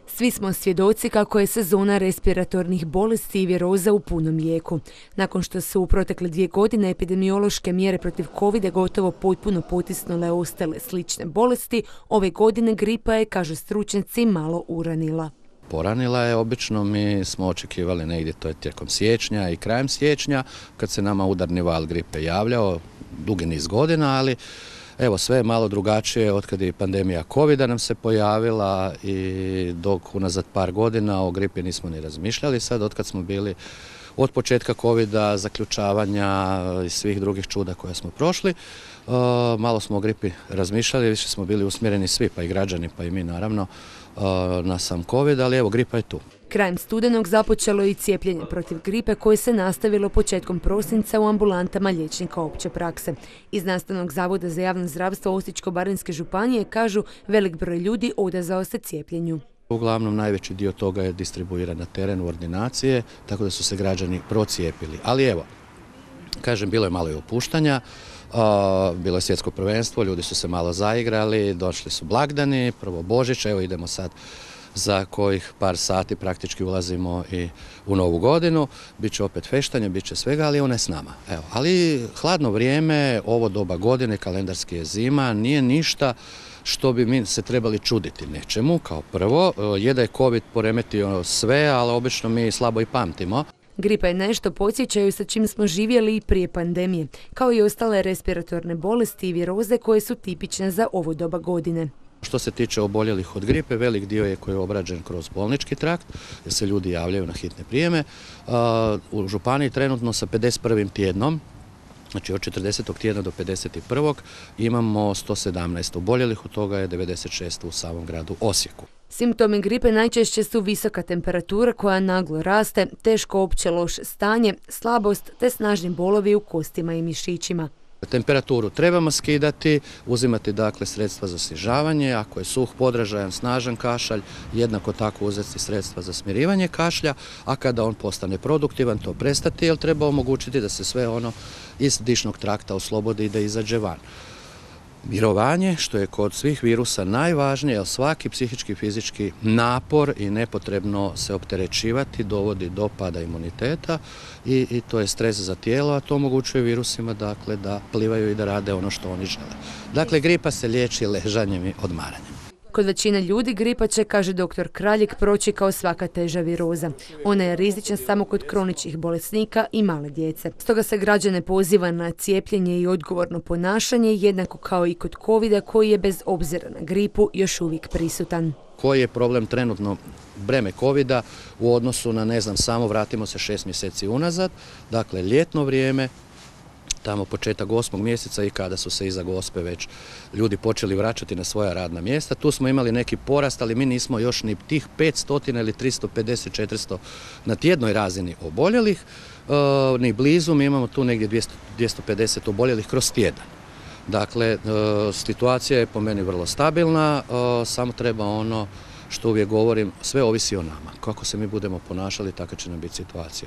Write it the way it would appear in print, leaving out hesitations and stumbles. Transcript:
Svi smo svjedoci kako je sezona respiratornih bolesti i viroza u punom jeku. Nakon što su u protekle 2 godine epidemiološke mjere protiv covida gotovo potpuno potisnule ostale slične bolesti, ove godine gripa je, kažu stručnjaci, malo uranila. Poranila je, obično mi smo očekivali negdje, to je tijekom siječnja i krajem siječnja, kad se nama udarni val gripe javljao, dugi niz godina, ali evo sve je malo drugačije otkad je pandemija covida nam se pojavila i dok unazad par godina o gripi nismo ni razmišljali, sad otkad smo bili od početka covida, zaključavanja i svih drugih čuda koje smo prošli, malo smo o gripi razmišljali, više smo bili usmjereni svi, pa i građani, pa i mi naravno, na sam covid, ali evo gripa je tu. Krajem studenog započelo je i cijepljenje protiv gripe koje se nastavilo početkom prosinca u ambulantama liječnika opće prakse. Iz Nastavnog zavoda za javno zdravstvo Osječko-baranjske županije kažu velik broj ljudi odazvao se cijepljenju. Uglavnom najveći dio toga je distribuiran na teren u ordinacije, tako da su se građani procijepili. Ali evo, kažem, bilo je malo i opuštanja, bilo je svjetsko prvenstvo, ljudi su se malo zaigrali, došli su blagdani, prvo Božić, evo idemo sad za kojih par sati praktički ulazimo i u novu godinu. Biće opet feštanje, bit će svega, ali ona je s nama. Evo, ali hladno vrijeme, ovo doba godine, kalendarski je zima, nije ništa što bi mi se trebali čuditi nečemu, kao prvo. Je da je COVID poremetio sve, ali obično mi slabo i pamtimo. Gripa je nešto, podsjećaju, sa čim smo živjeli i prije pandemije, kao i ostale respiratorne bolesti i viroze koje su tipične za ovo doba godine. Što se tiče oboljelih od gripe, velik dio je koji je obrađen kroz bolnički trakt, jer se ljudi javljaju na hitne prijeme. U županiji trenutno sa 51. tjednom, znači od 40. tjedna do 51. imamo 117 oboljelih, od toga je 96 u samom gradu Osijeku. Simptomi gripe najčešće su visoka temperatura koja naglo raste, teško opće loše stanje, slabost te snažni bolovi u kostima i mišićima. Temperaturu trebamo skidati, uzimati dakle sredstva za snižavanje, ako je suh, podražajan, snažan kašalj, jednako tako uzeti sredstva za smirivanje kašlja, a kada on postane produktivan to prestati, jer treba omogućiti da se sve ono iz dišnog trakta oslobodi i da izađe van. Mirovanje, što je kod svih virusa najvažnije, jer svaki psihički i fizički napor i nepotrebno se opterećivati dovodi do pada imuniteta i to je stres za tijelo, a to omogućuje virusima dakle, da plivaju i da rade ono što oni žele. Dakle, gripa se liječi ležanjem i odmaranjem. Kod većine ljudi gripa će, kaže dr. Kraljik, proći kao svaka teža viroza. Ona je rizična samo kod kroničnih bolesnika i male djece. Stoga se građane poziva na cijepljenje i odgovorno ponašanje, jednako kao i kod covida koji je bez obzira na gripu još uvijek prisutan. Koji je problem trenutno breme covida u odnosu na, samo vratimo se 6 mjeseci unazad, dakle ljetno vrijeme, tamo početak 8. mjeseca i kada su se iza Gospe već ljudi počeli vraćati na svoja radna mjesta. Tu smo imali neki porast, ali mi nismo još ni tih 500 ili 350-400 na tjednoj razini oboljelih, ni blizu, mi imamo tu negdje 250 oboljelih kroz tjedan. Dakle, situacija je po meni vrlo stabilna, samo treba ono što uvijek govorim, sve ovisi o nama. Kako se mi budemo ponašali, taka će nam biti situacija.